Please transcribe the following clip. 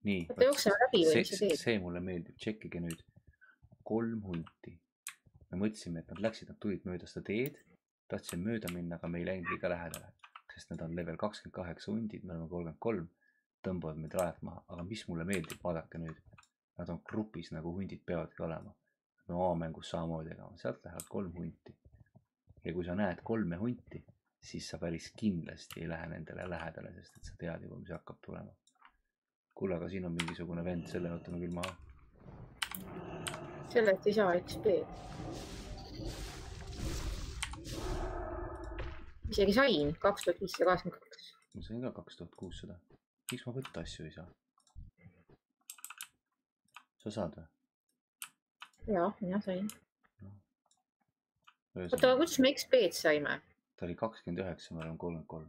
nii. Võtta jooksema läbi või mis sa teed? See mulle meeldib, tšekkige nüüd. 3 hunti. Me mõtlesime, et nad tulid mööda seda teed. Tahtsime mööda minna, aga me ei läinud liiga lähedale. Sest nad on level 28 hundid, me oleme 33. Tõmbavad meid rajalt maha. Aga mis mulle meeldib, vaadake nüüd. Nad on grupis, nagu hundid peavadki olema. Me oma mängus samamoodi tegema. Sealt lähevad 3 hunti. Ja kui sa näed 3 hunti, siis sa päris kindlasti ei lähe nendele lähedale, sest et sa tead juba, mis hakkab tulema. Kuule, aga siin on mingisugune vend, selle võtame küll maha. Sellest ei saa XP. Isegi sain 2582. Ma sain ka 2600. Miks ma võtta asju ei saa? Sa saad või? Jaa, mina sain. No. Oota, kuidas me XP-d saime? Ta oli 29, me oleme 33.